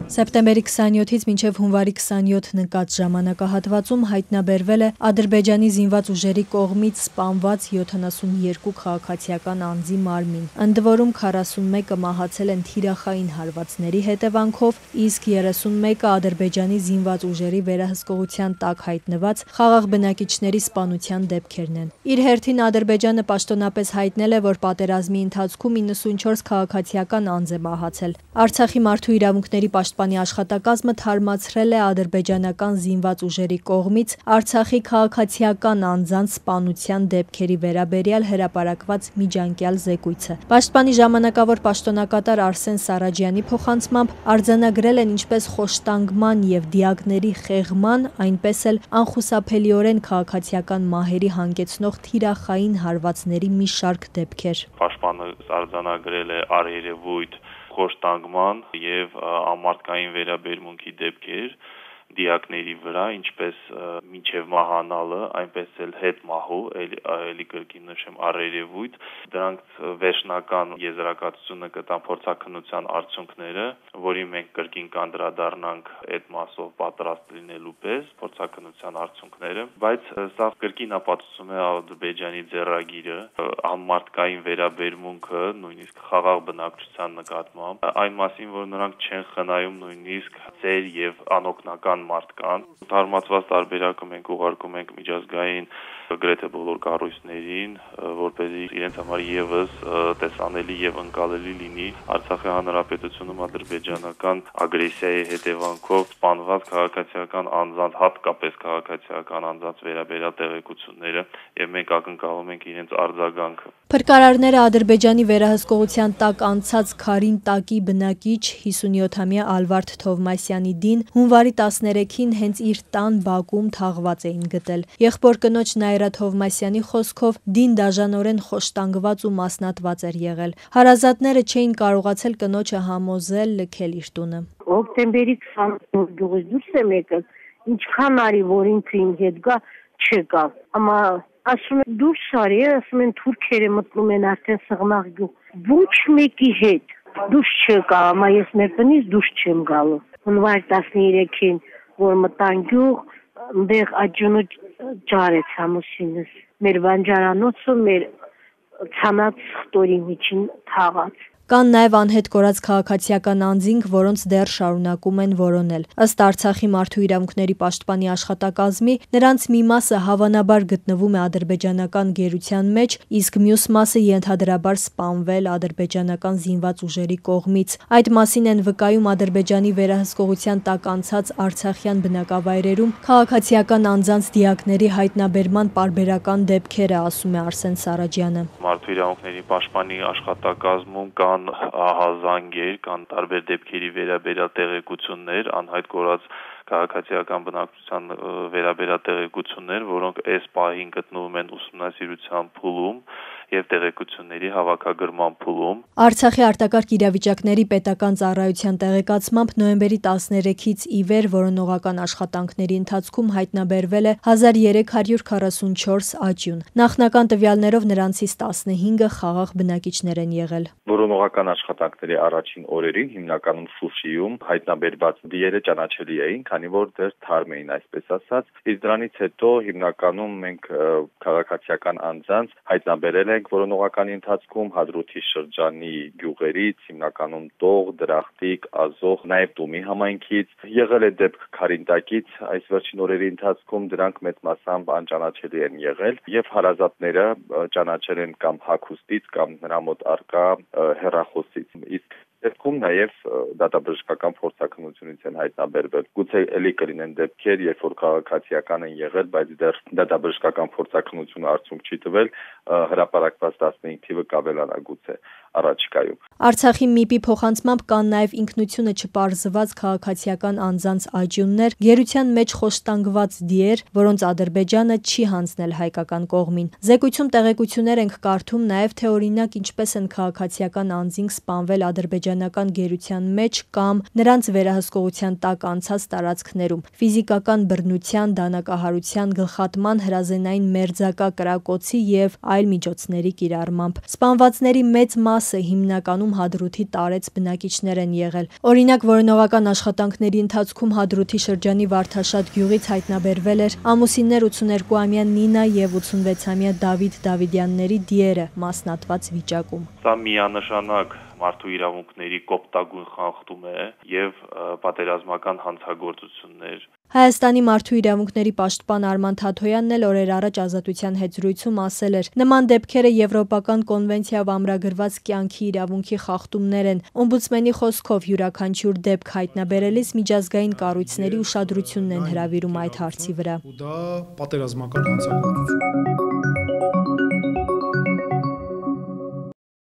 Սեպտեմբերի 27-ից մինչև հունվարի 27 նկատ ժամանակահատվածում հայտնաբերվել է Ադրբեջանի զինված ուժերի կողմից սպանված 72 քաղաքացիական անձի մարմին, ընդ որում 41-ը մահացել են թիրախային հարվածների հետևանքով, իսկ 31-ը Ադրբեջանի զինված ուժերի վերահսկողության տակ հայտնված խաղաղ բնակիչների սպանության դեպքերն են։ Իր հերթին Ադրբեջանը պաշտոնապես հայտնել է, որ պատերազմի ընթացքում 94 քաղաքացիական անձ է մահացել։ Արցախի մարդու իրավունքների պաշտպանի աշխատակազմը թարմացրել է ադրբեջանական զինված ուժերի կողմից Արցախի քաղաքացիական անձանց սպանության դեպքերի վերաբերյալ հրապարակված միջանկյալ զեկույցը։ Պաշտպանի ժամանակավոր պաշտոնակատար Արսեն Սարաջյանի փոխանցմամբ արձանագրել են ինչպես խոշտանգման եւ դիակների խեղման, այնպես էլ անխուսափելիորեն քաղաքացիական մահերի հանգեցնող թիրախային հարվածների մի շարք դեպքեր։ Պաշտպանը արձանագրել է առերևույթ խոշտանգման եւ ամարտկային վերաբերմունքի դեպքեր դիակների վրա, ինչպես մինչև մահանալը, այնպես էլ հետ մահու, էլի կրկին նշեմ առերևույթ, դրանք վերջնական եզրակացությունը կտան փորձաքննության արդյունքները, որի մենք կրկին կանդրադառնանք այդ մասով պատրաստ լինելու պես փորձաքննության արդյունքները, բայց սա կրկին ապացուցում է Ադրբեջանի ձեռագիրը, ամարտկային վերաբերմունքը, նույնիսկ խաղաղ բնակչության նկատմամբ, այն մասին, որ նրանք չեն խնայում նույնիսկ ծեր եւ անօգնական մարդկանց։ Թարմացված տարբերակը մենք ուղարկում ենք միջազգային գրեթե բոլոր կառույցներին, որպեսզի իրենց համար եւս տեսանելի եւ ընկալելի լինի Արցախի հանրապետությունում ադրբեջանական ագրեսիայի հետևանքով սպանված քաղաքացիական անձանց, հատկապես քաղաքացիական անձանց վերաբերյալ տեղեկությունները, եւ մենք ակնկալում ենք իրենց արձագանքը։ Փրկարարները Ադրբեջանի վերահսկողության տակ անցած Քարին տակի բնակիչ 57-ամյա Ալվարդ Թովմասյանի դին հունվարի 13-ին հենց իր տան բակում թաղված էին գտել։ Եղբոր կնոջ Նայրա Թովմասյանի խոսքով դին դաժանորեն խոշտանգված ու մասնատված էր եղել։ Հարազատները չէին կարողացել կնոջը համոզել լքել իր տունը։ Հոկտեմբերի 20-ին դուրս եմ եկել, ինչքան արի, որ ինքը իմ հետ գա, չեկա։ Ամա ասում են դուրս արի, ասում են թուրքերը մտնում են արդեն Սղնաղ գյուղ։ Ոչ մեկի հետ դուրս չեկա, ամա ես մեր տնից դուրս չեմ գալու։ Հունվար 13-ին, որ մտան գյուղ, այնտեղ աջունը ջարեց ամուսինս։ Մեր բանջարանոցը մեր ցանած խտորի միջին թաղած։ Կան նաև անհետ կորած քաղաքացիական անձինք, որոնց դեռ շարունակում են որոնել։ Ըստ Արցախի մարդու իրավունքների պաշտպանի աշխատակազմի, նրանց մի մասը հավանաբար գտնվում է ադրբեջանական գերության մեջ, իսկ մյուս մասը ենթադրաբար սպանվել ադրբեջանական զինված ուժերի կողմից։ Այդ մասին են վկայում Ադրբեջանի վերահսկողության տակ անցած արցախյան բնակավայրերում քաղաքացիական անձանց դիակների հայտնաբերման պարբերական դեպքերը, ասում է Արսեն Սարաջյանը։ Մարդու իրավունքների պաշտպանի աշխատակազմում կան ահազանգեր, կան տարբեր դեպքերի վերաբերյալ տեղեկություններ, անհայտ կորած քաղաքացիական բնակչության վերաբերյալ տեղեկություններ, որոնք այս պահին գտնվում են ուսումնասիրության փուլում եւ տեղեկությունների հավաքագրման փուլում։ Արցախի արտակարգ իրավիճակների պետական ծառայության տեղեկացմամբ նոյեմբերի 13-ից ի վեր որոնողական աշխատանքների ընթացքում հայտնաբերվել է 1344 աճյուն։ Նախնական տվյալներով նրանցից 15-ը խաղաղ բնակիչներ են եղել։ Որոնողական աշխատանքների առաջին օրերին հիմնականում Շուշիում հայտնաբերված դիերը ճանաչելի էին, քանի որ դեռ թարմ էին, այսպես ասած, իսկ դրանից հետո հիմնականում մենք քաղաքացիական անձանց հայտնաբերել ենք որոնողականի ընթացքում Հադրութի շրջանի գյուղերից, հիմնականում Տող, Դրախտիկ, Ազոխ, նաև Տումի համայնքից, եղել է դեպք Քարինտակից, այս վերջին օրերի ընթացքում դրանք մեծ մասամբ անճանաչելի են եղել եւ հարազատները ճանաչել են կամ հագուստից կամ նրա մոտ արկա հեռախոսից, իսկ դեպքում նաև դատաբժշկական փորձաքննությունից են հայտնաբերվել։ Գուցե էլի կլինեն դեպքեր, երբ որ քաղաքացիական են եղել, բայց դեռ դատաբժշկական փորձաքննությունը արդյունք չի տվել, հրապարակված 15 թիվը կավելանա գուցե առաջիկայում։ Արցախի ՄԻՊ-ի փոխանցմամբ կան նաև ինքնությունը չպարզված քաղաքացիական անձանց աճյուններ, գերության մեջ խոշտանգված դիեր, որոնց Ադրբեջանը չի հանձնել հայկական կողմին։ Զեկույցում տեղեկություններ ենք կարդում նաև թե օրինակ ինչպես են քաղաքացիական անձինք սպանվել ադրբեջանական գերության մեջ կամ նրանց վերահսկողության տակ անցած տարածքներում, ֆիզիկական բռնության, դանակահարության, գլխատման, հրազենային մերձակա կրակոցի եւ այլ միջոցների կիրառմամբ։ Սպանվածների մեծ մասը մասը հիմնականում Հադրութի տարեց բնակիչներ են եղել։ Օրինակ, որոնողական աշխատանքների ընթացքում Հադրութի շրջանի Վարդաշատ գյուղից հայտնաբերվել էր ամուսիններ 82-ամյա Նինա եւ 86-ամյա Դավիթ Դավիդյանների դիերը մասնատված վիճակում։ Սա միանշանակ մարդու իրավունքների կոպտագույն խախտում է եւ պատերազմական հանցագործություններ։ Հայաստանի մարդու իրավունքների պաշտպան Արման Թաթոյանն էլ օրեր առաջ Ազատության հետ զրույցում ասել էր. նման դեպքերը Եվրոպական կոնվենցիայով ամրագրված կյանքի իրավունքի խախտումներ են։ Օմբուդսմենի խոսքով յուրաքանչյուր դեպք հայտնաբերելիս միջազգային կառույցների ուշադրությունն են հրավիրում այդ հարցի վրա։ Դա պատերազմական հանցագործություն։